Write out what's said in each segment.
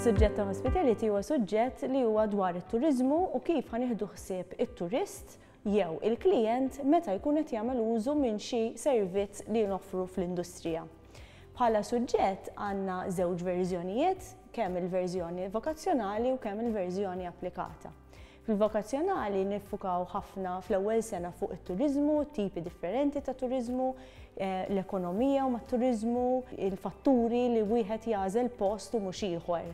Is-suġġett ta' hospitality huwa suġġett li huwa dwar it-turiżmu u kif ħa nieħdu ħsieb it-turist jew il-klijent meta jkun qed jagħmel użu minn xi servizz li noffru fl-industrija. Bħala suġġett għandna żewġ verżjonijiet, kemm il-verżjoni vokazzjonali u kemm il-verżjoni applikata. Fil-vokazzjonali niffukaw ħafna fl-ewwel sena fuq it-turiżmu, tipi differenti ta' turiżmu, l-ekonomija mat-turiżmu, il-fatturi li wieħed jagħżel post u mhux ieħor.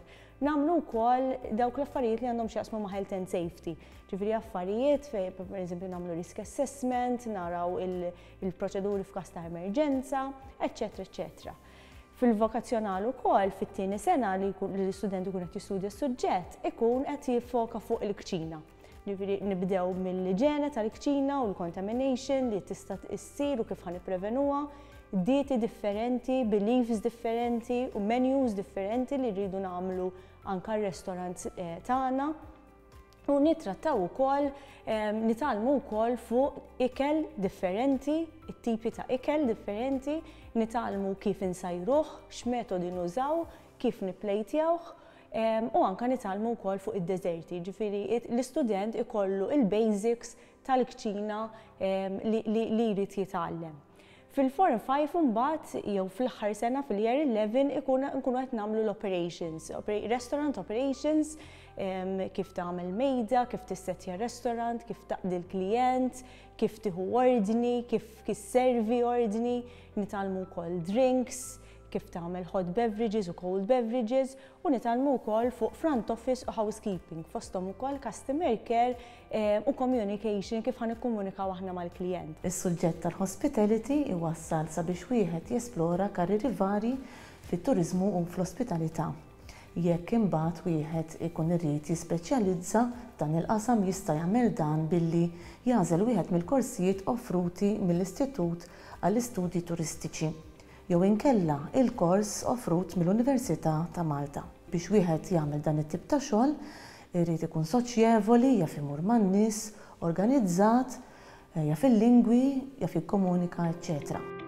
Nagħmlu wkoll dawk l-affarijiet li għandhom x'jaqsmu ma' health and safety. Ġifieri affarijiet fejn pereżempju nagħmlu risk assessment, naraw il-proċeduri f'każ ta' emerġenza, eċċetera eċċetera. Fil-vokazzjonal ukoll fit-tieni sena li l-istudent ikun qed jistudja s-suġġett ikun qed jiffoka fuq il-kċina. Ġifieri nibdew mill-iġene tal-kċina u l-contamination li tista' issir u kif ħa nipprevenuha, dieti differenti, beliefs differenti u menus differenti li rridu nagħmlu anka r-restaurants tagħna. U nittrattaw ukoll, nitgħallmu wkoll fuq ikel differenti, it-tipi ta' ikel differenti, nitgħallmu kif insajruh, x'metodi nużaw, kif nipplejtjawh, u anka nitgħallmu wkoll fuq id-deżerti. Ġifieri l-istudent ikollu il-basics tal-kċina li jrid jitgħallem. Fil-Form 5 imbagħad jew fl-aħħar sena fil-Year 11 ikun nkunu qed nagħmlu l-operations, restaurant operations, kif tagħmel mejda, kif tissettja restaurant, kif taqdi l-klijent, kif tieħu ordni, kif tisservi ordni, nitgħallmu wkoll drinks, kif tagħmel hot beverages u cold beverages u nitgħallmu wkoll fuq front office u housekeeping, fosthom ukoll customer care u communication, kif ħa nikkomunikaw aħna mal-klijent. Is-suġġett tal-hospitality iwassal sabiex wieħed jesplora karrieri vari fit-turiżmu u fl-ospitalità. Jekk imbagħad wieħed ikun irid jispeċjalizza f'dan il-qasam, jista' jagħmel dan billi jagħżel wieħed mill-korsijiet offruti mill-Istitut għall-Istudji Turistiċi jew inkella il-kors offrut mill-Università ta' Malta. Biex wieħed jagħmel dan it-tip ta' xogħol irid ikun soċjevoli, jaf imur man-nies, organizzat, jaf il-lingwi, jaf jikkomunika, eċċetera.